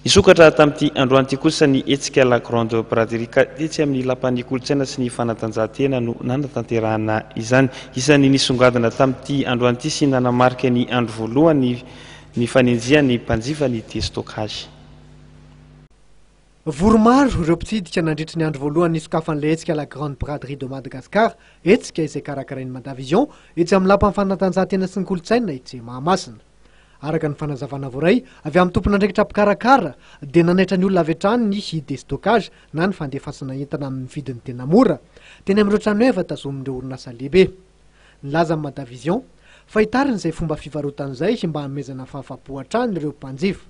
Hisokatra tamin'ity androany ity kosa ny hetsika La Grande Braderie ka tetsy amin'ny Lapan'ny Kolontsaina sy ny Fanatanjahantena no nanatanterahana izany. Isan'ny nisongadina tamin'ity androany ity sy nanamarika ny andro voalohany ny fanenjehan'ny mpanjifa ny déstockage. Vory maro ireo mpitsidika nandritry ny andro voalohany nisokafan'ilay hetsika La Grande Braderie de Madagascar, hetsika izay karakarain'ny Madavision etsy amin'ny Lapan'ny Fanatanjahantena sy ny Kolontsaina etsy Mahamasina. Araka ny fanazavana voaray avy amin'ny tompon'andraikitra mpikarakara dia nanaitra ny olona avy hatrany ny destockage na ny fandefasana entana amin'ny vidiny tena mora teny amin'ireo tranoheva tazomin'ireo orinasa lehibe. Nilaza ny Madavision fa hitarina izay fomba fivarotana izay mba hanomezana fahafapo hatrany ireo mpanjifa.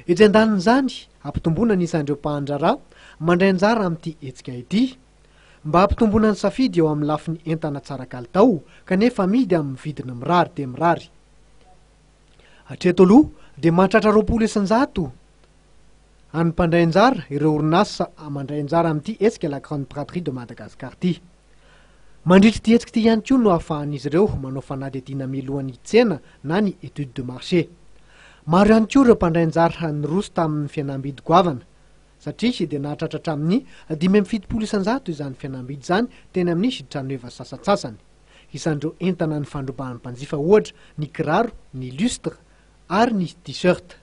Etsy andanin'izany, hampitomboana ny isan'ireo mpahandraharaha mandray anjara amin'ity hetsika ity. Mba hampitomboana ny safidy eo amin'ny lafiny entana tsara kalitao kanefa amidy amin'ny vidiny mirary dia mirary. Hatreto aloha dia mahatratra 20% an'ny mpandray anjara ireo orinasa mandray anjara amin'ity hetsika La Grande Braderie de Madagascar ity. Mandritra ity hetsika ity ihany koa no ahafahan'izy ireo manao fanadihadiana mialohan'ny tsena na ny étude de marché. Maro ihany koa ireo mpandray anjara niroso tamin'ny fihenam-bidy goavana satria dia nahatratra hatramin'ny 75% izany fihenam-bidy izany teny amin'ny tranoheva sasantsasany. Isan'ireo entana nifandrobahan'ny mpanjifa ohatra ny kiraro, ny lustre ary ny t-shirt.